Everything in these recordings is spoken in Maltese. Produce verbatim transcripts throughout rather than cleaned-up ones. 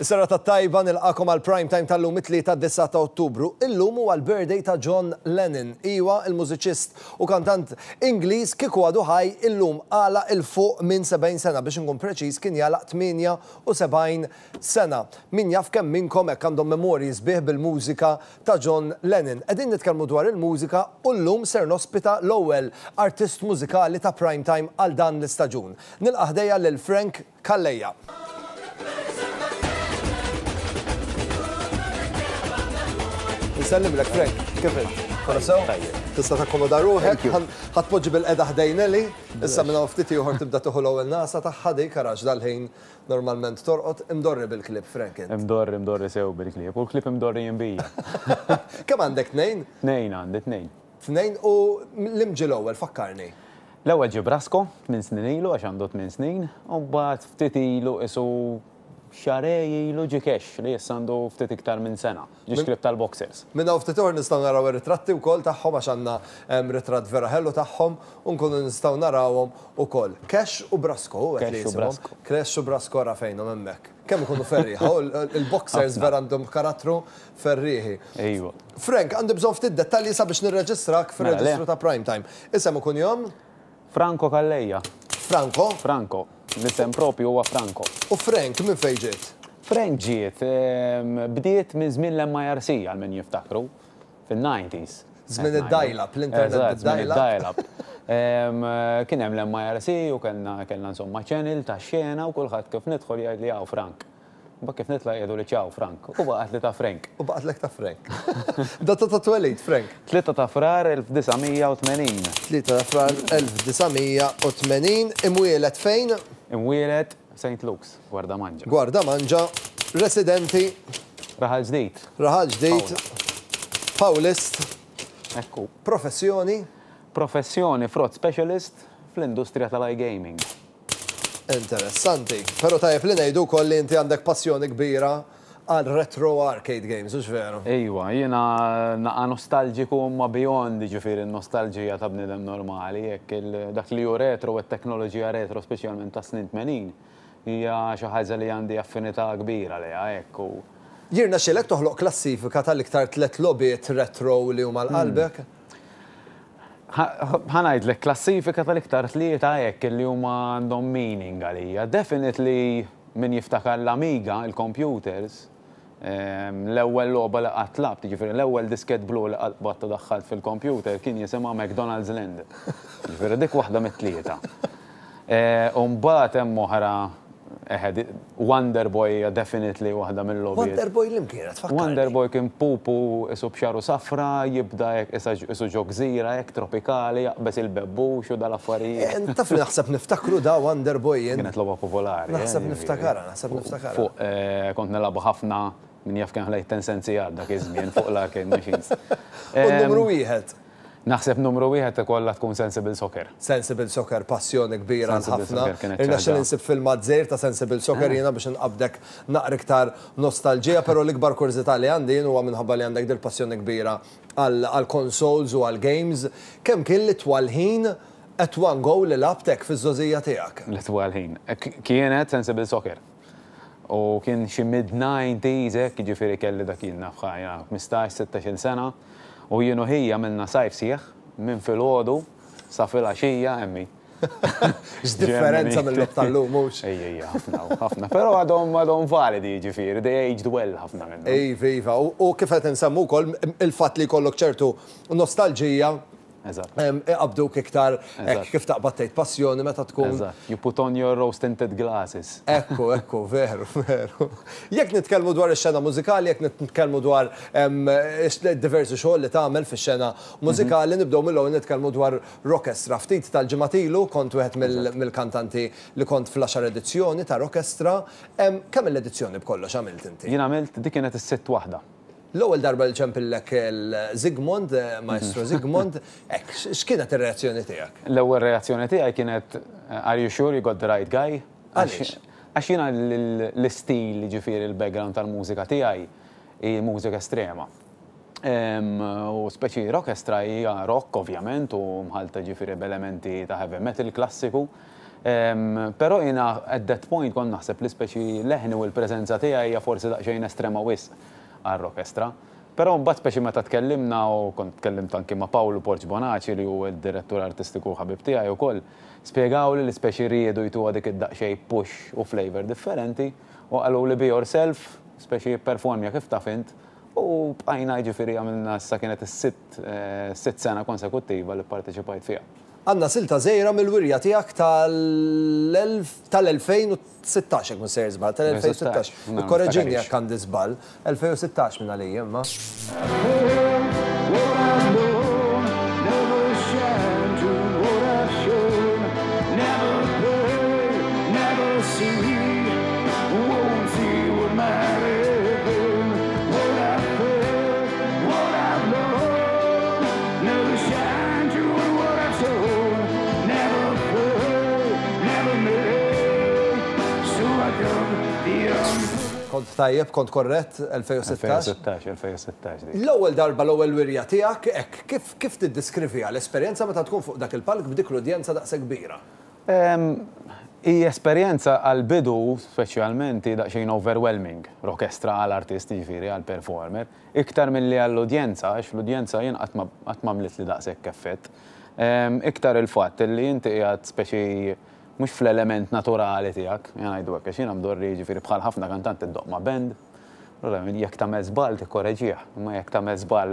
Is-serata tajba, nilqagħkom għal prime time tal-lum, it-Tlieta, disgħa ta' Ottubru. Illum huwa l-birthday ta' John Lennon. Iwa, il-mużiċist u kantant Ingliż, kieku għadu ħaj illum għalaq 'il fuq minn sebgħin sena, biex nkun preċiż kien jagħlaq tmienja u sebgħin sena. Min jaf kemm minnkom hekk għandhom memorji sbieħ bil-mużika ta' John Lennon. Qegħdin nitkellmu dwar il-mużika u llum ser nospita l-ewwel artist mużikali ta' prime time għal dan l-istaġun. Nilqa' ħdejja lil Frank Calleja. Nsellimlek, Frank, kif int? Kollox sew? Tista' takkomoda ruħek, ħa tpoġġi bilqiegħda ħdejn Eli, issa minn hawn ftit ieħor tibda tieħu l-ewwel nagħsa tagħha dik, għax dal-ħin normalment torqod. Imdorri bil-klieb, Frank, int? Imdorri, imdorri sew bil-klieb. U l-klieb imdorri bija. Kemm għandek, tnejn? Tnejn għandi, tnejn. Tnejn, u liem ġie l-ewwel, fakkarni? L-ewwel ġie Brasko, tmien snin ilu, għax għandu tmien snin, u mbagħad ftit ilu, isu xahrejn ilu, ġie Cash li issa għandu ftit iktar minn sena. Ġie klieb tal-boxers. Minn hawn ftit ieħor nistgħu naraw ir-ritratti wkoll tagħhom, għax għandna em, ritratt vera ħelu tagħhom u nkunu nistgħu narawhom ukoll. Cash u Brasko, u Cash u Brasko. Cash u Brasko, ra fejnhom hemmhekk. Kemm ikunu ferrieħa, u l- il-boxers vera għandhom karattru ferrieħi. Ejwa. Frank, għandi bżonn ftit dettalji sabiex nirreġistrak Mela, le. fir-reġistru ta' Prime Time. Isem u kunjom? Franco Calleja. Franco. Franco. L-isem propju huwa Franco. U Frank minn fejn ġiet? Frank ġiet, em, bdiet minn żmien l-M I R C, għal min jiftakru, fin-nineties. Żmien id-dial-up, l-internet. Eżatt, żmien bid-dial-up. id-dial-up. Em, Kien hemm l-M I R C u kellna kellna insomma channel ta' xena u kulħadd kif nidħol jgħid li "Hawn Frank". Ba kif nitla' jgħidu li "Ċaw Frank". U baqgħet li ta' Frank. U baqgħetlek ta' Frank. Data ta' twelid, Frank? tlieta ta' Frar elf disa' mija u tmenin. tlieta ta' Frar elf disa' mija u tmenin, imwieled fejn? Imwieled Saint Luke's, Gwardamanġa. Gwardamanġa, residenti? Raħal Ġdid. Raħal Ġdid, Pawlist. Ekku. Professjoni? Professjoni fraud specialist fl-industrija tal-iGaming. Interessanti. Pero tajjeb li ngħidu wkoll li inti għandek passjoni kbira għal retro arcade games, hux veru? Ejwa, jiena naqa nostalġiku ma beyond, ġifieri, nostalġija ta' bnidem normali, jekk il- dak li hu retro u t-teknoloġija retro, speċjalment ta' snin tmenin, hija xi ħaġa li għandi affinità kbira lejha hekk u Jirnexxielek toħloq klassifika tal-iktar tlet logħbiet retro li huma għal qalbek? Ħa ngħidlek klassifika tal-iktar tlieta hekk li huma għandhom meaning għalija. Definitely min jiftakar l-Amiga, il-computers, em, l-ewwel logħba li qatt lgħabt, jiġifieri l-ewwel disket blu li qatt batta daħħalt fil-computer kien jisimha McDonald's Land. Jiġifieri dik waħda mit-tlieta. Eh, U mbagħad hemm oħra, eħe, Wonder Boy hija definitely waħda mill-logħbiet. Wonder Boy liem kienet? Fakkarni. Wonder Boy kien pupu isu b'xagħru safra, jibda hekk isa isu ġo gżira hekk tropikali, jaqbeż il-bebbux u dal-affarijiet. Eh, Taf li naħseb niftakru da Wonder Boy jien. Kienet logħba popolari. Naħseb eh, niftakara, naħseb niftakara. Fuq, eh, kont nilagħbu ħafna, min jaf kemm ħlejt ten sentijat dak iż-żmien fuq l-arcade machines. U numru wieħed? Naħseb numru wieħed ikollha tkun Sensible Soccer. Sensible Soccer, passjoni kbira Sensible ħafna. Soccer kienet Irnexxieli ċaġa. nsib filmat żgħir ta' Sensible Soccer jiena biex nqabdek naqra iktar nostalġija, pero l-ikbar kurżità li għandi jien huwa minħabba li għandek dil-passjoni kbira għal consoles u għal games. Kemm kien l-itwal ħin at one go li lgħabt fiż-żgħożija tiegħek? L-itwal ħin. K- Kienet Sensible Soccer. U kien xi mid-nineties hekk, jiġifieri kelli dak jien naf ħajja ħmistax sittax-il sena. U jien u ħija għamilna sajf sħiħ minn filgħodu sa filgħaxija emmi. X'differenza mill-logħob tal-lum, mhux? Ejja, ejja, ħafna, ħafna. Però għadhom għadhom validi, ġifieri, they aged well ħafna minnhom. Iva, iva. U u kif qed insemmu wkoll il-fatt li jkollok ċertu nostalġija Eżatt. em, iqabduk iktar hekk, Eżatt. kif taqbad tgħid passjoni meta tkun Eżatt. You put on your rose tinted glasses. Ekku, ekku, veru, veru. Jekk nitkellmu dwar ix-xena mużikali, jekk nitkellmu dwar em, ix- diversi xogħol li tagħmel fix-xena mużikali, nibdew mill-ewwel nitkellmu dwar Rockestra. Ftit tal-ġimgħat ilu kont wieħed mill- mill-kantanti li kont fl-għaxar edizzjoni ta' Rockestra. Em, Kemm l-edizzjoni b'kollox għamilt inti? Jien għamilt, dik kienet is-sitt waħda. L-ewwel darba li ċempillek il-Zigmund, eh, Maestro Zigmund, hekk, x'kienet ir-reazzjoni tiegħek? L-ewwel reazzjoni tiegħi kienet, "Are you sure you got the right guy?" Għaliex? Għax jiena l-istil, ġifieri l-background tal-mużika tiegħi hi mużika estrema. Em, U speċi rockestra hija rock ovvjament u mħalta ġifieri b'elementi ta' heavy metal klassiku. Però jiena at that point kont naħseb li speċi leħni u l-preżenza tiegħi hija forsi daqsxejn estrema wisq għall-orkestra. Però mbagħad speċi meta tkellimna, u kont tkellimt anki ma' Paolo Borg Bonaci, li hu d-direttur artistiku, ħabib tiegħi wkoll, spjegaw li l-speċi riedu jtuha dik id-daqsxejn push u flavor differenti u qalu li "Be yourself", speċi performja kif taf int, u bqajna, ġifieri għamilna, issa kienet is-sitt eh, sitt sena konsekuttiva li parteċipajt fiha. Għandna silta żgħira mill-wirja tiegħek tal-elfejn u sittax, jekk mhux sejjer żball, tal-elfejn u sittax. Korreġini jekk għandi żball, elfejn u sittax minn għalija, imma. What I've known, never shine to what I've shown, never pay, never see, won't see what might have been, what I've felt, what I've known, never shine to what I've shown, never pay, never made, so I come beyond. Kont tajjeb, kont korrett, elfejn u sittax. elfejn u sittax, elfejn u sittax dik. L-ewwel darba, l-ewwel wirja tiegħek, hekk, kif kif tiddeskriviha l-esperjenza meta tkun fuq dak il-palk b'dik l-udjenza daqshekk kbira? Em, I esperjenza għal-bidu, speċjalment, hi daqsxejn overwhelming, l-orkestra għal-artist, ġifieri għal-performer, iktar mill-li għall-udjenza, għax l-udjenza jien qatt ma għamlet li daqshekk effett. Em, Iktar il-fatt li inti qiegħed speċi mhux fl-element naturali tiegħek, jien ngħidu hekk, għax jiena mdorri, ġifieri bħal ħafna kantanti ddoqq ma' band, allura jekk tagħmel żball tikkoreġih, imma jekk tagħmel żball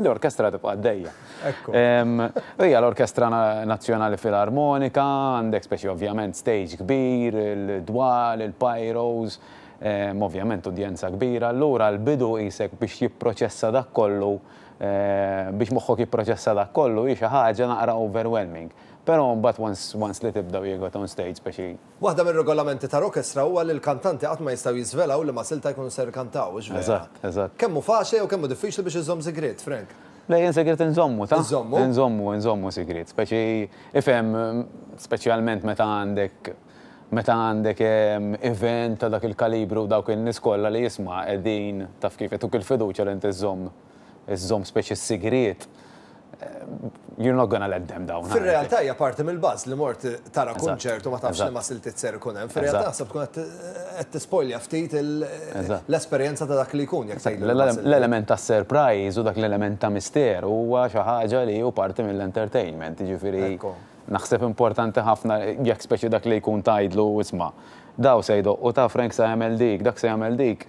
l-orkestra tibqa' għaddejja. Ekku. Em, Hija l-Orkestra Na- Nazzjonali Filarmonika, għandek speċi ovvjament stage kbir, il-dwal, il-pyros, em, ovvjament udjenza kbira. Allura l-bidu qisek biex jipproċessa dak kollu, eh, biex moħħok jipproċessa dak kollu, hi xi ħaġa naqra overwhelming. Però mbagħad once, once li tibda you got on stage speċi Waħda mir-regolamenti ta' orkestra huwa li l-kantanti qatt ma jistgħu jiżvelaw liema silta jkunu ser kantaw, hux vera? Eżatt, eżatt. Kemm hu faċli u kemm hu diffiċli biex iżomm sigriet, Frank? Le, jien sigriet nżommu, ta' Nżommu? Nżommu, nżommu sigriet. Speċi, ifhem, speċjalment meta għandek meta għandek em, event ta' dak il-kalibru, dawk il-nies kollha li jisma' qegħdin, taf kif, jtuk il-fiduċja li inti żżomm iżżomm speċi sigriet. You're not gonna let them down. Fir-realtà hija parti mill-buzz li mort tara Eżatt, kunċert u ma tafx li eżatt. ma siltiet ser ikun hemm. Fir-realtà Eżatt. naħseb tkun qed qed tispoilja ftit il- Eżatt. l-esperjenza ta' dak li jkun jekk tgħidlu li ma siltiet. L-element ta' surprise u dak l-element ta' misteru huwa xi ħaġa li hu parti mill-entertainment, jiġifieri Ekku. naħseb importanti ħafna jekk speċi dak li jkun tgħidlu, "Isma', daw se jdoqqu, ta' Frank se jagħmel dik, dak se jagħmel dik",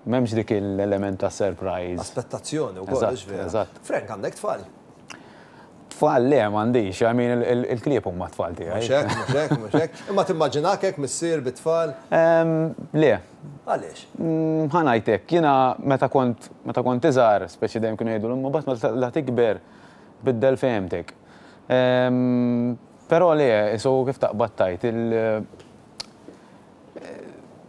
m'hemmx dik l-element ta' surprise. Aspettazzjoni wkoll, Eżatt, hux vera? Eżatt. Frank, għandek tfal? Tfal le, m'għandix, I mean, il- il-klieb huma tfal tiegħi. Mhux hekk, mhux hekk, mhux hekk. Imma timmaġinak hekk missier bit-tfal? Em, Le, Għaliex? Mm, ħa ngħidlek, jiena meta kont meta kont iżgħar, speċi dejjem kienu jgħidu, "Imma mbagħad meta la tikber biddel fehmtek." Em, Però le, so kif taqbad tgħid, il-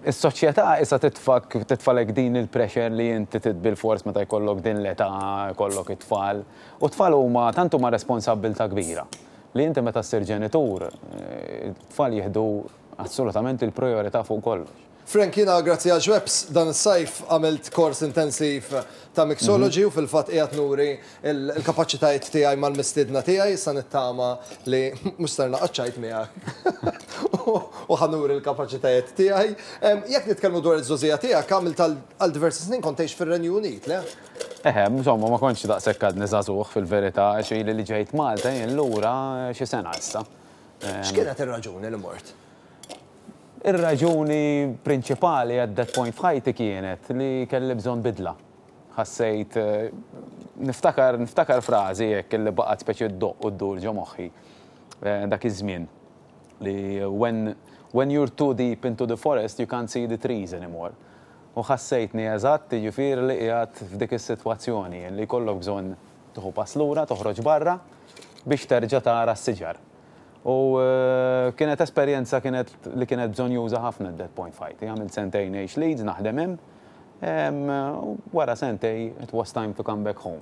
Is-soċjetà issa titfak titfalek din il-pressure li inti bil-fors meta jkollok din l-età jkollok it-tfal. U t-tfal huma tant huma responsabbiltà kbira li inti meta ssir ġenitur, eh, it-tfal jieħdu assolutament il-priorità fuq kollox. Frank, jiena grazzi għal Schweppes dan is-sajf għamilt kors intensiv ta' mixology u fil-fatt qiegħed nuri il-kapaċitajiet tiegħi mal-mistiedna tiegħi, sa nittama li mhux ser naqgħod miegħek u ħa nuri l-kapaċitajiet tiegħi. Em, Jekk nitkellmu dwar iż-żgħożija tiegħek, għamilt għal diversi snin kont tgħix fir-Renju Unit, le? Eħe, insomma, ma kontx daqshekk għadni żagħżugħ fil-verità, xi li ġejt Malta jien lura xi sena issa. X'kienet ir-raġuni li mort? Ir-raġuni prinċipali at that point f'ħajti kienet li kelli bżonn bidla. Ħassejt, eh, niftakar, niftakar frażi hekk li baqgħet speċi ddoqq u ddur ġo moħħi eh, dak iż-żmien li when, when you're too deep into the forest, you can't see the trees anymore. U ħassejtni eżatt, jiġifieri li qiegħed f'dik is-sitwazzjoni li jkollok bżonn tieħu pass lura, toħroġ barra biex terġa' tara s-siġar. U eh, kienet esperjenza kienet li kienet bżonnjuża ħafna at that point f'ħajti. Għamilt sentejn ngħix Leeds, naħdem hemm. Em, u wara sentejn, it was time to come back home.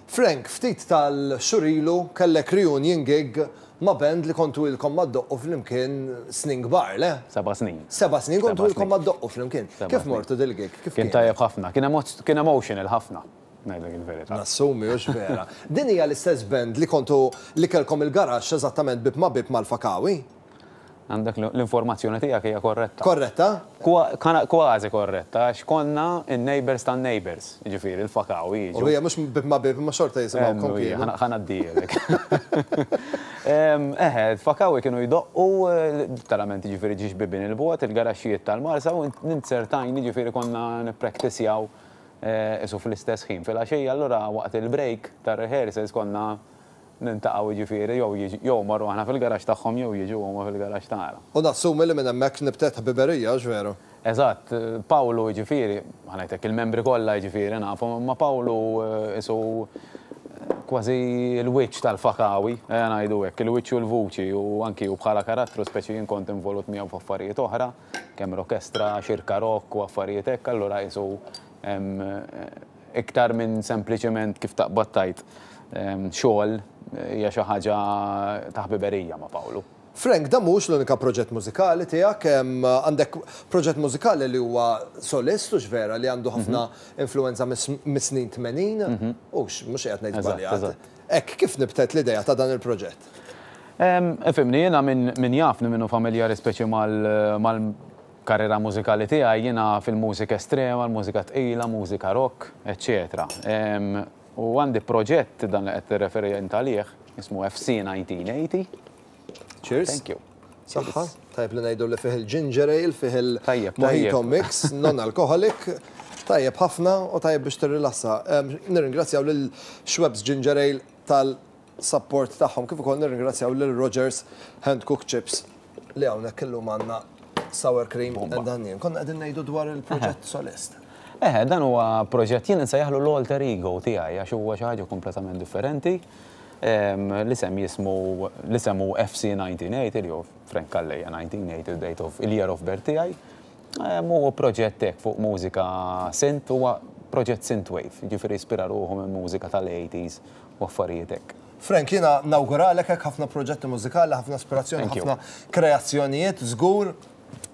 Frank, ftit tal-xhur ilu kellek reunion gig ma' band li kontu ilkom ma ddoqqu flimkien snin kbar, le? Seba' snin. Seba' snin kontu Seba' ilkom snin. ma ddoqqu flimkien. Seba' Kif snin. mortu dil-gig? Kif Kien tajjeb ħafna, kien emo- kien emotional ħafna, ngħidlek il-verità. Nassumi, hux vera? Din hija l-istess band li kontu li kellkom il-garaxx eżattament bib ma' bib mal-Fakawi? Għandek l-informazzjoni tiegħek hija korretta. Korretta? Kważi korretta, għax konna in-neighbors tan-neighbors, ġifieri il-Fakawi jiġu. U hija mhux bib ma bib, ma xorta jisimgħu kienu. Ħa ngħaddielek. Eħe, Fakawi kienu jdoqqu, literalment ġifieri ġiex bibien il-bogħod, il-garaxxijiet tal-Marsa, u ninzertajni ġifieri konna nippraktissjaw isu fl-istess ħin. Fil-għaxija allura waqt il-break tar-rehearsals konna niltaqgħu ġifieri, jew marru aħna fil-garax tagħhom jew jiġu huma fil-garax tagħna. U nassumi li minn hemmhekk nibtet ħbiberija, veru? Eżatt, Pawlu ġifieri, ħa ngħidlek il-membri kollha ġifieri nafhom, imma Pawlu isu kważi l-wiċċ tal-Fakawi, ngħidu hekk, il-wiċċ u l-vuċi u anki u bħala karattru speċi jien kont involut miegħu f'affarijiet oħra, kemm orkestra, xirka rock u affarijiet hekk, allura isu iktar minn sempliċement kif taqbad tajt xogħol hija xi ħaġa ta' ħbiberija ma' Pawlu. Frank, dan mhux l-unika proġett mużikali tiegħek, għandek proġett mużikali li huwa solist u vera li għandu ħafna influenza mis-snin tmenin, u mhux qed ngħid żbaljat. Hekk kif nibtet l-idea ta' dan il-proġett? Ifhimni, jiena min jafni minnu familjari speċi mal-karriera mużikali tiegħi, jiena fil-mużika estrema, l-mużika tqila, mużika rock, eċċetera. U għandi proġett dan li qed tirreferi int għalih, jismu F C nineteen eighty. Cheers. Thank you. Saħħa, tajb li ngħidu li fih il-ginger ale, fih il-mojito mix, non-alcoholic, tajjeb ħafna u tajjeb biex tirrilassa. Nirringrazzjaw lil Schweppes Ginger Ale tal-support tagħhom, kif ukoll nirringrazzjaw lil Rogers Hand Cooked Chips li hawnhekk illum għandna sour cream and onion. Konna qegħdin ngħidu dwar il-proġett solist. Eh, dan huwa proġett jien insejjaħlu l-alter ego tiegħi għax huwa xi ħaġa kompletament differenti. L-isem jismu l-isem hu F C nineteen eighty li hu Frank Calleja nineteen eighty, date of il-year of birth tiegħi. Huwa proġett hekk fuq mużika synth, huwa proġett synthwave, ġifieri ispira ruħu minn mużika tal-eighties u affarijiet hekk. Frank, jiena nawguralek hekk ħafna proġetti mużikali, ħafna ispirazzjoni, Thank you. ħafna kreazzjonijiet, żgur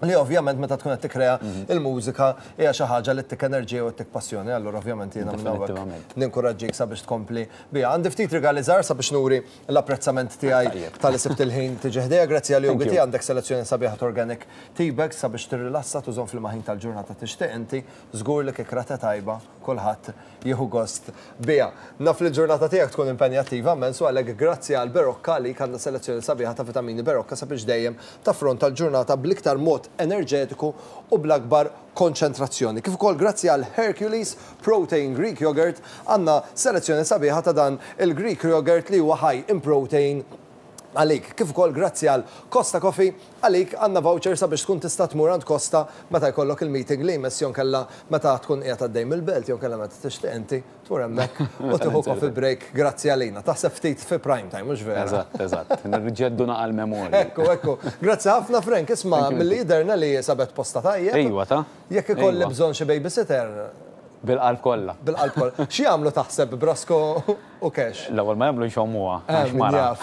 li ovvjament meta tkun qed tikkrea il-mużika hija xi ħaġa li ttik enerġija u ttik passjoni, allura ovvjament jiena minn hawnhekk Definitivament. ninkoraġġik sabiex tkompli biha. Għandi ftit rigali żgħar sabiex nuri l-apprezzament tiegħi Tajjeb. tal-li sibt il-ħin tiġi ħdejja. Grazzi għal Thank Yogi you. Tea għandek selezzjoni sabiħa ta' organic tea bags sabiex tirrilassa tużhom fil-maħin tal-ġurnata tixtieq inti, żgur li kikrata tajba kulħadd jieħu gost biha. Naf li l-ġurnata tiegħek tkun impenjattiva immens u għalhekk grazzi għal Berocca li għandna selezzjoni sabiħa ta' vitamini Berocca sabiex dejjem taffronta l-ġurnata bl-iktar mod enerġetiku u bl-akbar konċentrazzjoni. Kif ukoll grazzi għal Hercules Protein Greek Yogurt għandna selezzjoni sabiħa ta' dan il-Greek Yogurt li huwa high in protein għalik. Kif ukoll grazzi għal Costa Coffee, għalik għandna voucher sabiex tkun tista' tmur għand Costa meta jkollok il-meeting li jmiss jew kella meta tkun qiegħed għaddej mill-belt jew kella meta tixtieq inti tmur hemmhekk u tieħu coffee break grazzi għalina. Taħseb ftit fi prime time, mhux vera? Eżatt, eżatt. Nirġeddu naqa l-memorja. Ekku, ekku. Grazzi ħafna, Frank, isma' Thank you. milli jiderna li sabet posta tajjeb. Ejwa ta' Jekk ikolli Ejwa. bżonn xi babysitter Bil-qalb kollha. Bil-qalb kollha. Xi jagħmlu taħseb Brasco u Cash? L-ewwel ma jagħmlu jxommuha Eh, għax min mara. jaf.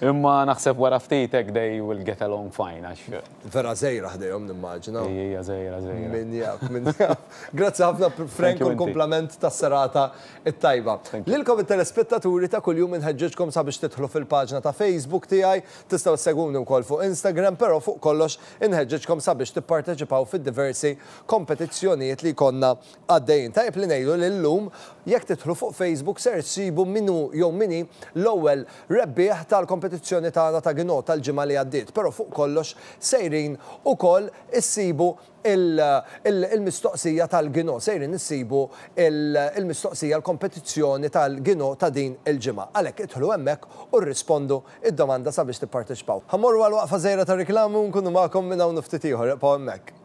Imma naħseb wara ftit hekk they will get along fine għax Vera żgħira ħdejhom nimmaġina. Hija żgħira żgħira. Min jaf, min jaf. Grazzi ħafna, Frank, Thank you, u inti. l-komplament tas-serata it-tajba. Thank you. Lilkom it-telespettaturi ta' kuljum inħeġġeġkom sabiex tidħlu fil-paġna ta' Facebook tiegħi, tistgħu ssegwuni wkoll fuq Instagram, però fuq kollox inħeġġeġkom sabiex tipparteċipaw fid-diversi kompetizzjonijiet li konna għaddejjin. Tajjeb li ngħidu li llum jekk tidħlu fuq Facebook ser ssibu min hu jew min hi l-ewwel rebbieħ tal-kompetizzjoni tagħna ta' Gino tal-ġimgħa li għaddiet, però fuq kollox sejrin ukoll issibu il-mistoqsija tal-Gino, sejrin issibu il-mistoqsija l-kompetizzjoni tal-Gino ta' din il-ġimgħa. Għalhekk idħlu hemmhekk u rrispondu id-domanda sabiex tipparteċipaw. Ħa mmorru għal waqfa żgħira ta' reklamu nkunu magħkom minn hawn ftit ieħor, ibqgħu hemmhekk.